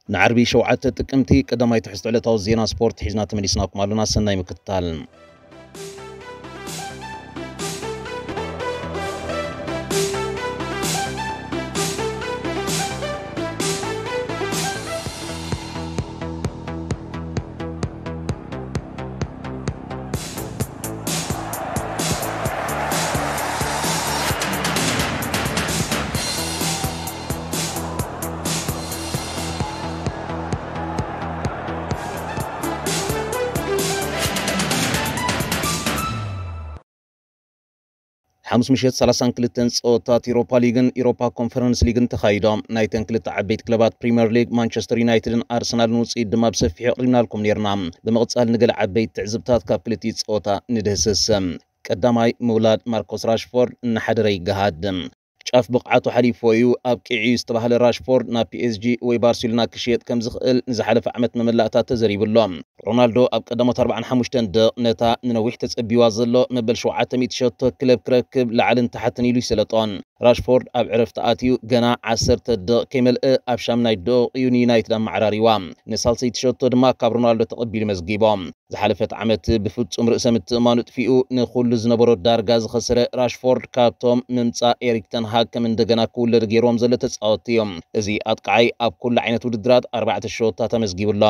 ንዓርቢ ሸውዓተ ጥቅምቲ ቀዳማይ ትሕዝቶ ዕለታዊ ዜና ስፖርት ሒዝና ተመሊስናኩም ኣሎና። ሰናይ ምክትታል። ሓሙስ ምሸት ሰላሳን ክልተን ጸወታት ኢሮፓ ሊግን ኢሮፓ ኮንፈረንስ ሊግን ተኻይዶም። ናይተን ክልተ ዓበይቲ ክለባት ፕሪምየር ሊግ ማንቸስተር ዩናይትድን ኣርሰናልን ውጽኢት ድማ ብሰፊሑ ኣቕሪብናልኩም ነይርና። ብምቕጻል ንገለ ዓበይቲ ትዕዝብታት ካብ ክልቲኡ ጸወታ ንድህስስ። ቀዳማይ ምውላድ ማርኮስ ራሽፎርድ እናሓደረ ይገሃድ። ጫፍ ብቕዓቱ ሓሊፎ እዩ ኣብቂዑ ዝተባህለ ራሽፎርድ ናብ ፒ ኤስ ጂ ወይ ባርሴሎና ክሽየጥ ከም ዝኽእል ንዝሓለፈ ዓመት መመላእታ ተዘሪቡ ኣሎ። ሮናልዶ ኣብ ቀዳሞት ኣርባዓን ሓሙሽተን ደቕ ነታ ንነዊሕ ተጸቢዋ ዘሎ መበል ሸውዓተ ሚእቲ ሸቶ ክለብ ክረክብ ላዕልን ታሕትን ኢሉ ይሰለጦን። ራሽፎርድ ኣብ ዕረፍቲ ኣትዩ ገና ዓሰርተ ደቕ ከይመልእ ኣብ ሻምናይ ደቕ እዩ ንዩናይትድ ኣመዓራሪዋ። ንሳልሰይቲ ሸቶ ድማ ካብ ሮናልዶ ተቐቢሉ መዝጊቦ። ዝሓለፈት ዓመት ብፍጹም ርእሰ ምትእማኑ ጥፊኡ ንኹሉ ዝነበሮ ዳርጋ ዝኸሰረ ራሽፎርድ ካብቶም ምምጻእ ኤሪክ ተን ሃግ ከም እንደገና ክውለድ ገይርዎም ዘሎ ተጻወትቲ እዮም። እዚ ኣጥቃዓይ ኣብ ኩሉ ዓይነት ውድድራት ኣርባዕተ ሸወታት ኣመዝጊቡ ኣሎ።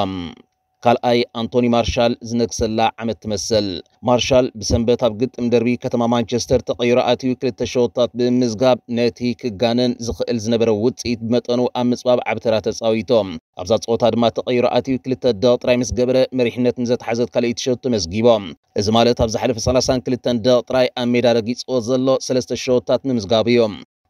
ካልኣይ ኣንቶኒ ማርሻል ዝነግሰላ ዓመት ትመስል። ማርሻል ብሰንበት ኣብ ግጥም ደርቢ ከተማ ማንቸስተር ተቐይሩ ኣትዩ ክልተ ሸወታት ብምምዝጋብ ነቲ ክጋነን ዝኽእል ዝነበረ ውጽኢት ብመጠኑ ኣብ ምጽባብ ዓቢ ተራ ተጻዊቶም። ኣብዛ ጸወታ ድማ ተቐይሩ ኣትዩ ክልተ ደቕ ጥራይ ምስ ገበረ መሪሕነት ንዘተሓዘት ካልኣይቲ ሸቶ መዝጊቦም። እዚ ማለት ኣብ ዝሓለፈ ሰላሳን ክልተን ደቕ ጥራይ ኣብ ሜዳ ረጊጽዎ ዘሎ ሰለስተ ሸወታት ምምዝጋቡ እዩ።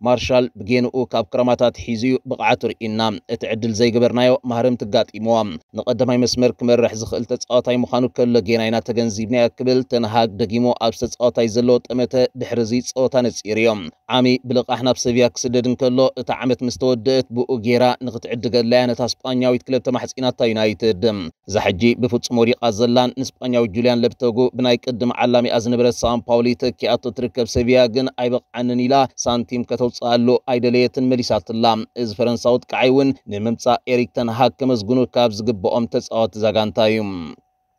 ማርሻል ብጌንኡ ካብ ክረማታት ሒዙ እዩ ብቕዓቱ ርኢና። እቲ ዕድል ዘይገበርናዮ ማህረምቲ ኣጋጢምዎ። ንቐዳማይ መስመር ክመርሕ ዝኽእል ተጻዋታይ ምዃኑ ከሎ ጌና ኢና ተገንዚብናዮ ክብል ተንሃግ ደጊሙ ኣብ ተጻዋታይ ዘለዎ ጠመተ ድሕሪ እዚ ጸወታ ነጺሩ እዩ። ዓሚ ብልቓሕ ናብ ሰቪያ ክስደድ እንከሎ፣ እታ ዓመት ምስ ተወደእት ብኡ ጌራ ንኽትዕድገላ እያ ነታ ስጳኛዊት ክለብ ተማሕጺናታ ዩናይትድ። እዛ ሕጂ ብፍጹም ወዲቓ ዘላን ንስጳኛዊ ጁልያን ለብተጉ ብናይ ቅድም ዓላሚኣ ዝነበረት ሳን ፓውሊ ተኪኣቶ ትርከብ ሰቪያ ግን ኣይበቕዓንን ኢላ ሳንቲም ከተውፅኣሉ ኣይደለየትን መሊሳትላ። እዚ ፈረንሳዊ ኣጥቃዓይ እውን ንምምፃእ ኤሪክ ተን ሃግ ከመስግኑ ካብ ዝግብኦም ተፃወትቲ እዛ ጋንታ እዩ።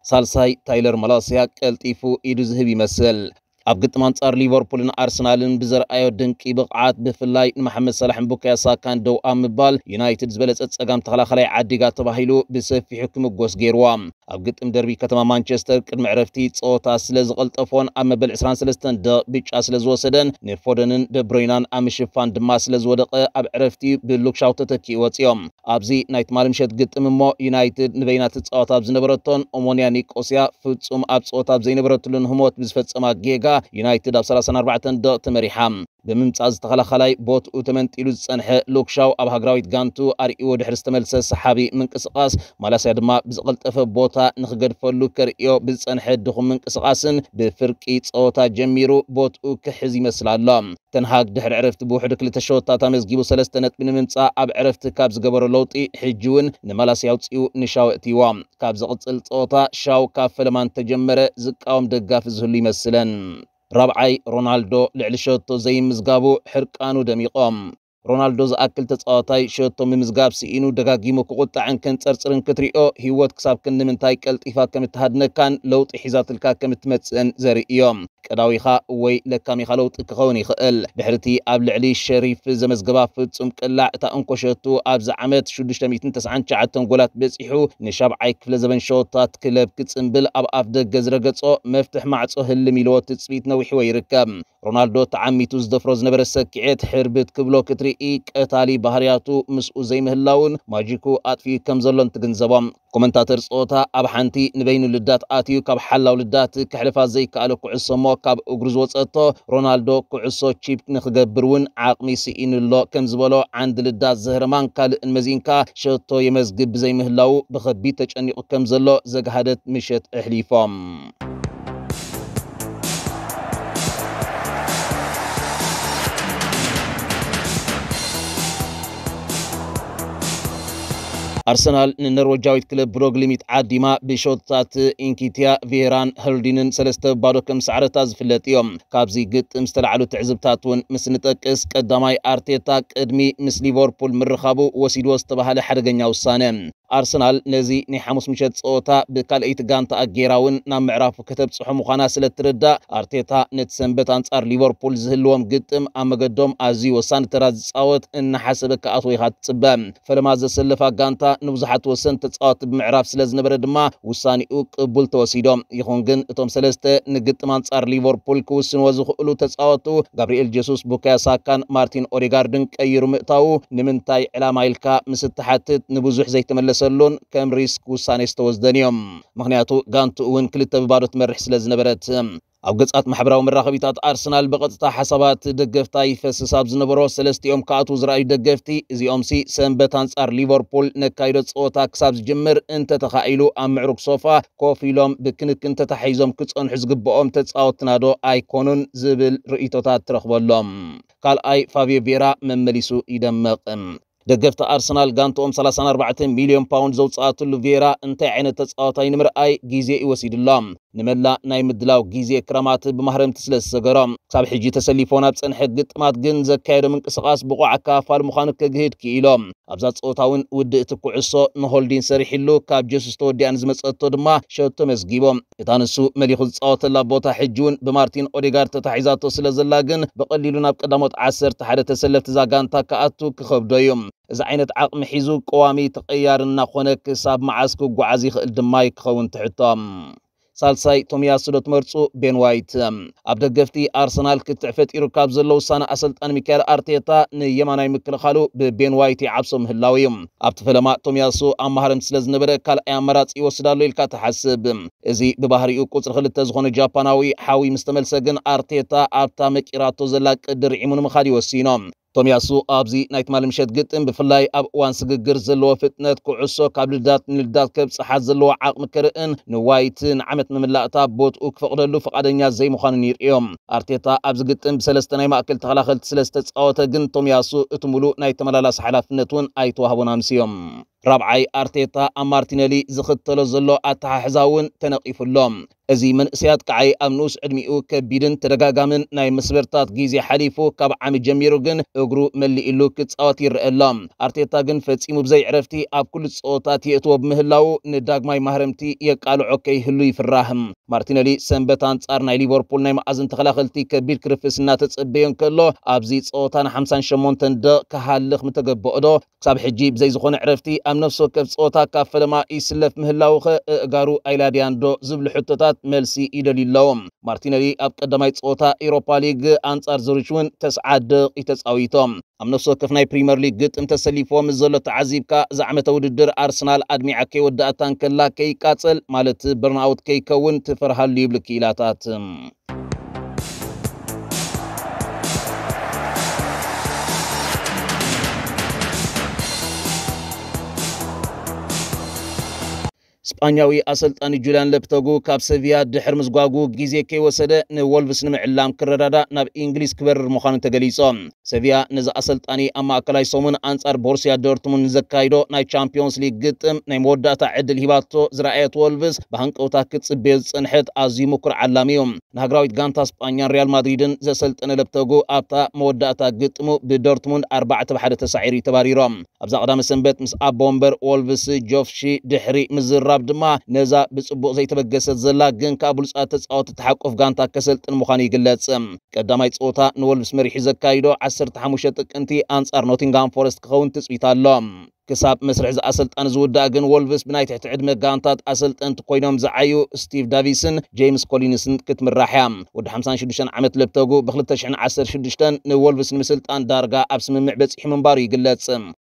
ሳልሳይ ታይለር ማላስያ ቀልጢፉ ኢዱ ዝህብ ይመስል። ኣብ ግጥም ኣንጻር ሊቨርፑልን ኣርሰናልን ብዘርኣዮ ድንቂ ብቕዓት፣ ብፍላይ ንመሓመድ ሳላሕን ቡካዮ ሳካን ደው ኣብ ምባል፣ ዩናይትድ ዝበለጸ ጸጋም ተኸላኻላይ ዓዲጋ ተባሂሉ ብሰፊሑ ክምጎስ ገይርዋ። ኣብ ግጥም ደርቢ ከተማ ማንቸስተር ቅድሚ ዕረፍቲ ጸወታ ስለ ዝቐልጠፎን ኣብ መበል ዕስራን ሰለስተን ደቕ ብጫ ስለ ዝወሰደን ንፎደንን ደብሮይናን ኣብ ምሽፋን ድማ ስለ ዝወደቐ ኣብ ዕረፍቲ ብሉክሻው ተተኪኡ ወጺኦም። ኣብዚ ናይ ትማሊ ምሸት ግጥም እሞ ዩናይትድ ንበይና ትጻወት ኣብ ዝነበረቶን ኦሞንያ ኒቆስያ ፍጹም ኣብ ጸወታ ኣብ ዘይነበረትሉን ህሞት ብዝፈጸማ ጌጋ ዩናይትድ ኣብ ሰላሳን ኣርባዕተን ደቕ ተመሪሓ። ብምምጻእ ዝተኸላኸላይ ቦትኡ ተመንጢሉ ዝጸንሐ ሉክሻው ኣብ ሃገራዊት ጋንቱ ኣርእይዎ ድሕሪ ዝተመልሰ ሰሓቢ ምንቅስቓስ ማላስያ ድማ ብዝቐልጠፈ ቦታ ንኽገድፈሉ ከርእዮ ብዝጸንሐ ድኹም ምንቅስቓስን ብፍርቂ ጸወታ ጀሚሩ ቦትኡ ክሕዝ ይመስል ኣሎ። ተንሃግ ድሕሪ ዕረፍቲ ብውሕዱ ክልተ ሸወታት ኣመዝጊቡ ሰለስተ ነጥቢ ንምምጻእ ኣብ ዕረፍቲ ካብ ዝገበሮ ለውጢ፣ ሕጂ እውን ንማላስያ ኣውጺኡ ንሻው ኣእትይዋ። ካብ ዝቕጽል ጸወታ ሻው ካብ ፈለማ እንተጀመረ ዝቃወም ደጋፊ ዝህሉ ይመስለን። ራብዓይ ሮናልዶ ልዕሊ ሸቶ ዘይምዝጋቡ ሕርቃኑ ደሚቖም። ሮናልዶ ዝኣክል ተጻዋታይ ሸቶ ምምዝጋብ ስኢኑ ደጋጊሙ ክቑጣዕን ከንጸርጽርን ክትሪኦ፣ ህይወት ክሳብ ክንዲ ምንታይ ቀልጢፋ ከም እትሃድነካን ለውጢ ሒዛትልካ ከም እትመጽእን ዘርኢ እዮም። ቀዳዊኻ ወይ ለካሚኻ ለውጢ ክኸውን ይኽእል። ድሕሪቲ ኣብ ልዕሊ ሸሪፍ ዘመዝገባ ፍጹም ቅላዕ፣ እታ እንኮ ሸቱ ኣብዚ ዓመት ሽዱሽተ ሚእትን ተስዓን ትሽዓተን ጎላት በጺሑ፣ ንሻብዓይ ክፍለ ዘበን ሸወታት ክለብ ክጽንብል ኣብ ኣፍ ደገ ዝረገጾ መፍትሕ ማዕጾ ህልም ኢልዎ ትጽቢት ነዊሕዎ ይርከብ። ሮናልዶ ተዓሚቱ ዝደፍሮ ዝነበረ ሰኪዔት ሕርብት ክብሎ ክትርኢ፣ ቀታሊ ባህርያቱ ምስኡ ዘይምህላውን ማጂኩ ኣጥፊኡ ከም ዘሎን ትግንዘቦ። ኮመንታተር ጸወታ ኣብ ሓንቲ ንበይኑ ልዳት ኣትዩ ካብ ሓላው ልዳት ከሕልፋ ዘይከኣለ ኩዕሶ እሞ ካብ እግሩ ዝወጸቶ ሮናልዶ ኩዕሶ ቺፕ ንኽገብር እውን ዓቕሚ ስኢኑ ኣሎ ከም ዝበሎ ዓንዲ ልዳት ዘህርማን ካልእን መዚንካ ሸቶ የመዝግብ ብዘይምህላዉ ብኸቢድ ተጨኒቑ ከም ዘሎ ዘግሃደት ምሸት ኣሕሊፎም። ኣርሰናል ንኖርወጃዊት ክለብ ብሮግሊ ሚት ዓዲማ ብሾትታት ኢንኪትያ፣ ቬራን ሆልዲንን ሰለስተ ባዶ ከም ሰዕረታ ዝፍለጥ እዮም። ካብዚ ግጥም ዝተላዕሉ ትዕዝብታት እውን ምስ ንጠቅስ፣ ቀዳማይ ኣርቴታ ቅድሚ ምስ ሊቨርፑል ምርኻቡ ወሲድዎ ዝተባህለ ሓደገኛ ውሳነ። ኣርሰናል ነዚ ናይ ሓሙስ ምሸት ጸወታ ብካልኣይቲ ጋንታ ኣጌራ እውን ናብ ምዕራፉ ከተብጽሖ ምዃና ስለ እትርዳእ፣ ኣርቴታ ነቲ ሰንበት ኣንጻር ሊቨርፑል ዝህልዎም ግጥም ኣብ መገዶም ኣዝዩ ወሳኒ ተራ ዝጻወት እናሓሰበ ክኣትዎ ኢኻ ትጽበ። ፈለማ ዘሰለፋ ጋንታ ንብዙሓት ወሰንቲ ተጻወቲ ብምዕራፍ ስለ ዝነበረ ድማ ውሳኔኡ ቅቡል ተወሲዶ። ይኹን ግን እቶም ሰለስተ ንግጥም ኣንጻር ሊቨርፑል ክውስንዎ ዝኽእሉ ተጻወቱ፣ ጋብሪኤል ጀሱስ፣ ቡካዮ ሳካን ማርቲን ኦዴጋርድን ቀይሩ ምእታዉ ንምንታይ ዕላማ ኢልካ ምስ እትሓትት፣ ንብዙሕ ዘይተመለሰሉን ከም ሪስክ ውሳኔ ዝተወስደን እዮም። ምኽንያቱ ጋንትኡ እውን ክልተ ብባዶ ትመርሕ ስለ ዝነበረት። ኣብ ገጻት ማሕበራዊ መራኸቢታት ኣርሰናል ብቐጥታ ሓሳባት ደገፍታ ይፈስስ ኣብ ዝነበሮ፣ ሰለስቲኦም ክኣትዉ ዝረኣዩ ደገፍቲ፣ እዚኦምሲ ሰንበት ኣንጻር ሊቨርፑል ነካይዶ ጸወታ ክሳብ ዝጅምር እንተተኻኢሉ ኣብ ምዕሩግ ሶፋ ኮፍ ኢሎም ብክንክን ተታሒዞም ክጸንሑ ዝግብኦም ተጻወትናዶ ኣይኮኑን ዝብል ርእይቶታት ትረኽበሎም። ካልኣይ ፋብዮ ቬራ መመሊሱ ይደምቕ። ደገፍቲ ኣርሰናል ጋንትኦም ሰላሳን ኣርባዕተን ሚልዮን ፓውንድ ዘውጽኣትሉ ቬራ እንታይ ዓይነት ተጻዋታይ ንምርኣይ ግዜ እዩ ወሲድሎም። ንመላእ ናይ ምድላው ግዜ ክረማት ብማህረምቲ ስለ ዝሰገሮም፣ ክሳብ ሕጂ ተሰሊፎ ናብ ጸንሐ ግጥማት ግን ዘካየዶ ምንቅስቓስ ብቑዕ ኣካፋል ምዃኑ ከግህድ ክኢሎም። ኣብዛ ጸወታ እውን ውድእቲ ኩዕሶ ንሆልዲን ሰሪሕሉ፣ ካብ ጀሱስ ተወዲኣ ንዝመጸቶ ድማ ሸቶ መስጊቦም። እታ ንሱ መሊኹ ዝጻወተላ ቦታ ሕጂ እውን ብማርቲን ኦዴጋርድ ተታሒዛቶ ስለ ዘላ ግን ብቐሊሉ ናብ ቀዳሞት ዓሰርተ ሓደ ተሰለፍቲ እዛ ጋንታ ክኣቱ ክኸብዶ እዩ። እዚ ዓይነት ዓቕሚ ሒዙ ቀዋሚ ተቐያሪ እናኾነ ክሳብ መዓስ ክጓዓዝ ይኽእል ድማ እዩ ክኸውን ትሕቶ። ሳልሳይ ቶሚያሱ ዶ ትመርጹ? ቤን ዋይት። ኣብ ደገፍቲ ኣርሰናል ክትዕ ፈጢሩ ካብ ዘሎ ውሳነ ኣሰልጣኒ ሚካኤል ኣርቴታ ንየማናይ ምክልኻሉ ብቤን ዋይት ይዓብሶ ምህላው እዩ። ኣብቲ ፈለማ ቶሚያሱ ኣብ ማህረምቲ ስለ ዝነበረ ካልኣይ ኣማራጺ ይወስድ ኣሎ ኢልካ ትሓስብ። እዚ ብባህሪኡ ቁጽሪ ክልተ ዝኾነ ጃፓናዊ ሓዊ ምስ ተመልሰ ግን ኣርቴታ ኣብታ መቂራቶ ዘላ ቅዲ ርዒሙ ንምኻድ ይወሲኖ። ቶሚያሱ ኣብዚ ናይ ትማሊ ምሸት ግጥም ብፍላይ ኣብ እዋን ስግግር ዘለዎ ፍጥነት ኩዕሶ ካብ ልዳት ንልዳት ከብጽሓ ዘለዎ ዓቕሚ ከርእን ንዋይት ንዓመት መምላእታ ቦትኡ ክፈቕደሉ ፍቓደኛ ዘይምዃኑን ይርእዮም። ኣርቴታ ኣብዚ ግጥም ብሰለስተ ናይ ማእከል ተኸላኸልቲ ስለ ዝተጻወተ ግን ቶሚያሱ እቲ ሙሉእ ናይ ተመላላሲ ሓላፍነት እውን ኣይተዋህቦን ኣምስዮም። ራብዓይ ኣርቴታ ኣብ ማርቲነሊ ዝኽተሎ ዘሎ ኣተሓሕዛ እውን ተነቒፉ ኣሎ። እዚ መንእሰይ ኣጥቃዓይ ኣብ ንኡስ ዕድሚኡ ከቢድን ተደጋጋምን ናይ መስበርታት ግዜ ሓሊፉ ካብ ዓሚ ጀሚሩ ግን እግሩ መሊእሉ ክጻወት ይረአ ኣሎ። ኣርቴታ ግን ፈጺሙ ብዘይ ዕረፍቲ ኣብ ኩሉ ጸወታት የእትዎ ብምህላዉ ንዳግማይ ማህረምቲ የቃልዖ ከይህሉ ይፍራህ። ማርቲነሊ ሰንበት ኣንጻር ናይ ሊቨርፑል ናይ መኣዝን ተኸላኸልቲ ከቢድ ክርፍስ እናተጸበዮ እንከሎ ኣብዚ ጸወታ ን ሓምሳን ሸሞንተን ደቕ ክሃልኽ ምተገበኦ ዶ? ክሳብ ሕጂ ብዘይ ዝኾነ ዕረፍቲ ኣብ ነፍሲ ወከፍ ጸወታ ካብ ፈለማ ይስለፍ ምህላዉኸ እእጋሩ ኣይላድያን ዶ ዝብሉ ሕቶታት መልሲ ይደልዩ ኣለዉ። ማርቲነሊ ኣብ ቀዳማይ ጸወታ ኤውሮፓ ሊግ ኣንጻር ዙሪች እውን ተስዓ ደቒ ተጻዊቶም። ኣብ ነፍሲ ወከፍ ናይ ፕሪምየር ሊግ ግጥም ተሰሊፍዎ ምስ ዘሎ ተዓዚብካ፣ እዚ ዓመተ ውድድር ኣርሰናል ኣድሚዓ ከይወዳእታ እንከላ ከይቃጸል፣ ማለት በርንኣውት ከይከውን ትፈርሃሉ ይብሉ ክኢላታት። ስጳኛዊ ኣሰልጣኒ ጁልያን ለፕተጉ ካብ ሰቪያ ድሕሪ ምዝጓጉ ግዜ ከይወሰደ ንወልቭስ ንምዕላም ክረዳዳእ ናብ እንግሊዝ ክበርር ምዃኑ ተገሊጹ። ሰቪያ ነዚ ኣሰልጣኒ ኣብ ማእከላይ ሰሙን ኣንጻር ቦሩስያ ዶርትሙንድ ንዘካይዶ ናይ ቻምፒዮንስ ሊግ ግጥም ናይ መወዳእታ ዕድል ሂባቶ ዝረኣየት ወልቭስ ብሃንቀውታ ክትጽበዮ ዝጸንሐት ኣዝዩ ምኩር ዓላሚ እዩ። ንሃገራዊት ጋንታ ስጳኛን ሪያል ማድሪድን ዘሰልጠነ ለፕተጉ ኣብታ መወዳእታ ግጥሙ ብዶርትሙንድ ኣርባዕተ ብ ሓደ ተሳዒሩ እዩ ተባሪሩ። ኣብዛ ቀዳመ ሰንበት ምስ ኣቦ ወንበር ወልቭስ ጆፍሺ ድሕሪ ምዝራብ ድማ ነዛ ብጽቡቕ ዘይተበገሰት ዘላ ግን ከኣ ብሉጻት ተጻወቲ ትሓቁፍ ጋንታ ከሰልጥን ምዃኑ ይግለጽ። ቀዳማይ ጸወታ ንወልቭስ መሪሑ ዘካይዶ ዓሰርተ ሓሙሽተ ጥቅምቲ ኣንጻር ኖቲንግሃም ፎረስት ክኸውን ትጽቢት ኣሎ። ክሳብ መስርሕ እዚ ኣሰልጣኒ ዝውዳእ ግን ወልቭስ ብናይ ትሕቲ ዕድመ ጋንታት ኣሰልጠንቲ ኮይኖም ዝዓዩ ስቲቭ ዳቪስን ጄምስ ኮሊንስን ክትምራሕ እያ። ወዲ ሓምሳን ሽዱሽተን ዓመት ለፕተጉ ብ ክልተ ሽሕን ዓሰርተ ሽዱሽተን ንወልቭስ ንምስልጣን ዳርጋ ኣብ ስምምዕ በጺሑ ምንባሩ ይግለጽ።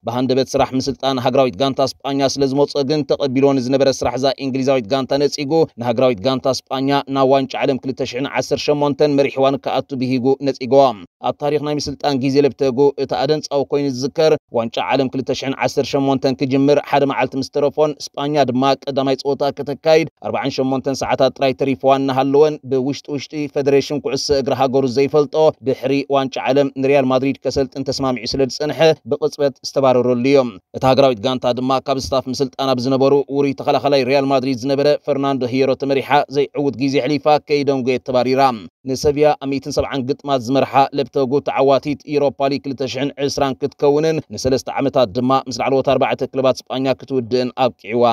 ብሃንደበት ስራሕ ምስልጣን ሃገራዊት ጋንታ ስጳኛ ስለ ዝመጾ ግን ተቐቢልዎ ንዝነበረ ስራሕ እዛ እንግሊዛዊት ጋንታ ነጺጉ ንሃገራዊት ጋንታ ስጳኛ ናብ ዋንጫ ዓለም ክልተ ሽሕን ዓሰርተ ሸሞንተን መሪሕዋን ክኣቱ ብሂጉ ነጺግዎ። ኣብ ታሪኽ ናይ ምስልጣን ግዜ ለፕተጉ እቲ ኣደንጻዊ ኮይኑ ዝዝከር ዋንጫ ዓለም ክልተ ሽሕን ዓሰርተ ሸሞንተን ክጅምር ሓደ መዓልቲ ምስ ተረፎን ስጳኛ ድማ ቀዳማይ ጸወታ ከተካይድ ኣርባዓን ሸሞንተን ሰዓታት ጥራይ ተሪፍዋ እናሃለወን ብውሽጢ ውሽጢ ፌደሬሽን ኩዕሶ እግሪ ሃገሩ ዘይፈልጦ ድሕሪ ዋንጫ ዓለም ንሪያል ማድሪድ ከሰልጥን ተስማሚዑ ስለ ዝጸንሐ ብቕጽበት ዝተባረረሉ እዩ። እታ ሃገራዊት ጋንታ ድማ ካብ ስታፍ ምስልጣና ብዝነበሩ ውሩይ ተኸላኸላይ ሪያል ማድሪድ ዝነበረ ፈርናንዶ ሂየሮ ተመሪሓ ዘይዕውት ግዜ ኣሕሊፋ ከይደንጎየት ተባሪራ። ንሰቪያ ኣብ ሚእትን ሰብዓን ግጥማት ዝመርሓ ለፕተጉ ተዓዋቲት ኢሮፓ ሊግ ክልተ ሽሕን ዕስራን ክትከውንን ንሰለስተ ዓመታት ድማ ምስ ላዕለዎት ኣርባዕተ ክለባት ስጳኛ ክትውድእን ኣብቂዕዋ።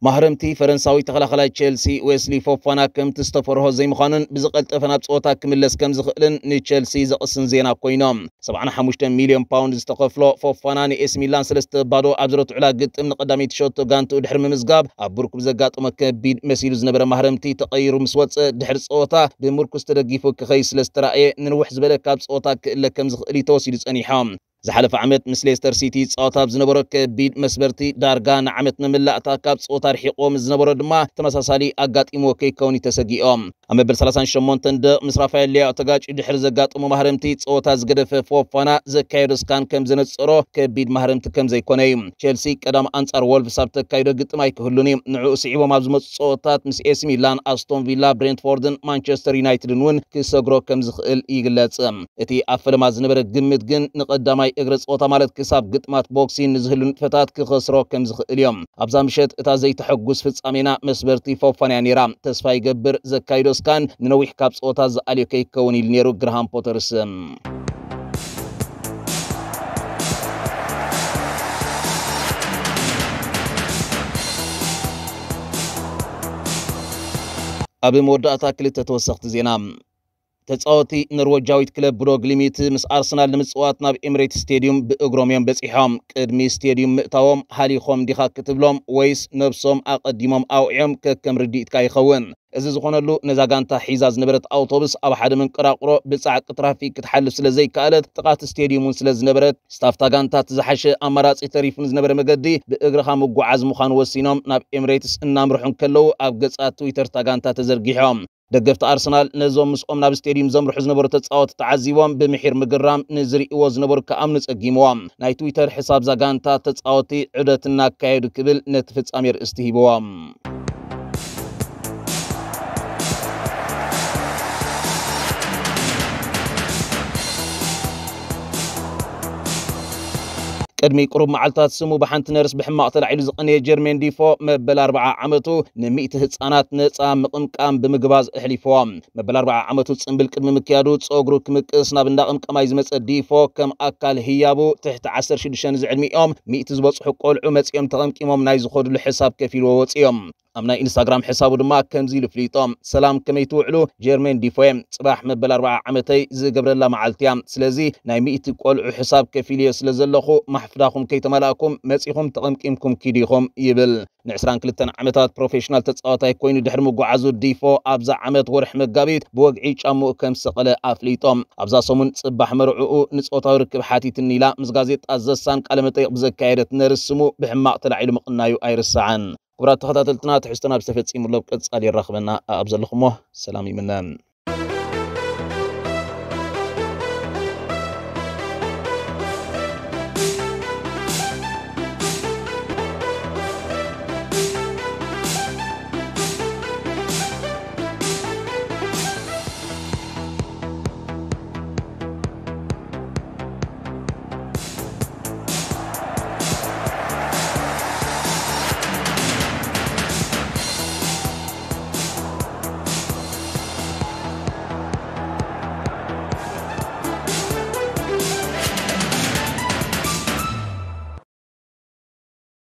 ማህረምቲ ፈረንሳዊ ተኸላኸላይ ቸልሲ ዌስሊ ፎፋና ከምቲ ዝተፈርሆ ዘይምዃኑን ብዝቐልጠፈ ናብ ጸወታ ክምለስ ከም ዝኽእልን ንቸልሲ ዘቕስን ዜና ኮይኖም። ሰብዓን ሓሙሽተ ሚልዮን ፓውንድ ዝተኸፍሎ ፎፋና ንኤሲ ሚላን ሰለስተ ባዶ ኣብ ዝረትዑላ ግጥም ንቐዳመይቲ ሸቶ ጋንትኡ ድሕሪ ምምዝጋብ ኣብ ብርኩ ብዘጋጠሞ ከቢድ መሲሉ ዝነበረ ማህረምቲ ተቐይሩ ምስ ወጸ ድሕሪ ጸወታ ብምርኩስ ተደጊፉ ክኸይ ስለ ዝተራእየ ንንውሕ ዝበለ ካብ ጸወታ ክእለ ከም ዝኽእል እዩ ተወሲዱ ጸኒሖም። ዝሓለፈ ዓመት ምስ ሌስተር ሲቲ ይጻወት ኣብ ዝነበሮ ከቢድ መስበርቲ ዳርጋ ንዓመት መመላእታ ካብ ጸወታ ርሒቕዎ ምስ ዝነበሮ ድማ ተመሳሳሊ ኣጋጢምዎ ከይከውን እዩ ተሰጊኦም። ኣብ መበል ሰላሳን ሸሞንተን ደቕ ምስ ራፋኤል ሊያኦ ተጋጭ ድሕሪ ዘጋጠሞ ማህረምቲ ጸወታ ዝገደፈ ፎፋና ዘካየዶ ስካን ከም ዘነጸሮ ከቢድ ማህረምቲ ከም ዘይኮነ እዩ። ቸልሲ ቀዳም ኣንጻር ወልቭስ ኣብ ተካይዶ ግጥም ኣይክህሉን እዩ። ንዕኡ ስዒቦም ኣብ ዝመጹ ጸወታት ምስ ኤሲ ሚላን፣ ኣስቶን ቪላ፣ ብሬንትፎርድን ማንቸስተር ዩናይትድን እውን ክሰግሮ ከም ዝኽእል ይግለጽ። እቲ ኣብ ፈለማ ዝነበረ ግምት ግን ንቐዳማይ እግረ ጸወታ ማለት ክሳብ ግጥማት ቦክሲን ንዝህሉ ንጥፈታት ክኸስሮ ከም ዝኽእል እዮም። ኣብዛ ምሸት እታ ዘይተሐጉስ ፍጻሜና መስበርቲ ፎፋንያ ነይራ። ተስፋ ይገብር ዘካይዶ ስካን ንነዊሕ ካብ ጸወታ ዝኣልዮ ከይከውን ኢሉ ነይሩ ግርሃም ፖተርስ። ኣብ መወዳእታ ክልተ ተወሰኽቲ ዜና። ተጻወቲ ኖርወጃዊት ክለብ ብዶ ግሊሚት ምስ ኣርሰናል ንምጽዋት ናብ ኤምሬትስ ስቴዲዩም ብእግሮም እዮም በጺሖም። ቅድሚ ስቴዲዩም ምእታዎም ሃሊኾም ዲኻ ክትብሎም ወይስ ነብሶም ኣቐዲሞም ኣውዕዮም ከከም ርድኢትካ ይኸውን። እዚ ዝኾነሉ ነዛ ጋንታ ሒዛ ዝነበረት ኣውቶቡስ ኣብ ሓደ መንቀራቕሮ ብጻዕቂ ትራፊክ ክትሓልፍ ስለ ዘይከኣለት ጥቓት ስቴዲዩም እውን ስለ ዝነበረት ስታፍታ ጋንታ እቲ ዝሓሸ ኣማራጺ ተሪፉ ንዝነበረ መገዲ ብእግርኻ ምጉዓዝ ምዃኑ ወሲኖም ናብ ኤምሬትስ እናምርሑ እንከለዉ ኣብ ገጻት ትዊተር እታ ጋንታ ተዘርጊሖም። ደገፍቲ ኣርሰናል ነዞም ምስኦም ናብ ስቴዲዩም ዘምርሑ ዝነበሩ ተጻወቲ ተዓዚቦም ብምሒር ምግራም ንዝርእይዎ ዝነበሩ ክኣምኑ ጸጊምዎም። ናይ ትዊተር ሕሳብ እዛ ጋንታ ተጻወቲ ዑደት እናካየዱ ክብል ነቲ ፍጻሜ ርእስቲ ሂብዎም። ቅድሚ ቁሩብ መዓልታት ስሙ ብሓንቲ ነርስ ብሕማቕ ተላዒሉ ዝቐነየ ጀርሜን ዲፎ መበል ኣርብዓ ዓመቱ ንሚእቲ ህጻናት ነጻ ምቕምቃም ብምግባዝ ኣሕሊፍዎ። መበል ኣርብዓ ዓመቱ ጽምብል ቅድሚ ምክያዱ ጸጉሩ ክምቅስ ናብ እንዳ ቅምቀማይ ዝመጸ ዲፎ ከም ኣካል ህያቡ ትሕቲ ዓሰርተ ሽዱሽተ ንዝዕድሚኦም ሚእቲ ዝበጽሑ ቆልዑ መጺኦም ተቐምቂሞም ናይ ዝኸድሉ ሕሳብ ከፊልዎ ወጺኦም። ኣብ ናይ ኢንስታግራም ሕሳቡ ድማ ከምዚ ኢሉ ፍሊጦ። ሰላም ከመይ ትውዕሉ ጀርሜን ዲፎ እየ። ጽባሕ መበል ኣርብዓ ዓመተይ ዝገብረላ መዓልቲ እያ። ስለዚ ናይ ሚእቲ ቆልዑ ሕሳብ ከፊልዮ ስለ ዘለኹ ማሕፍዳኹም ከይተመላእኩም መጺኹም ተቐምቂምኩም ኪዱ ኢኹም ይብል። ንዕስራን ክልተን ዓመታት ፕሮፌሽናል ተጻዋታይ ኮይኑ ድሕሪ ምጉዓዙ ዲፎ ኣብዛ ዓመት ወርሒ መጋቢት ብወግዒ ጫምኡ ከም ዝሰቐለ ኣፍሊጦ። ኣብዛ ሰሙን ጽባሕ መርዕኡ ንጾታዊ ርክብ ሓቲትኒ ኢላ ምስ ጋዜጣ ዘሳን ቃለ መጠይቕ ብዘካየደት ነርስ ስሙ ብሕማቕ ተላዒሉ ምቕናዩ ኣይርሳዕን። ክቡራት ተኸታተልትና ትሕዝቶና ብዝተፈጺሙ ኣሎ። ኣብ ቀጻሊ የራኽበና። ኣብ ዘለኹሞ ሰላም ይምነ።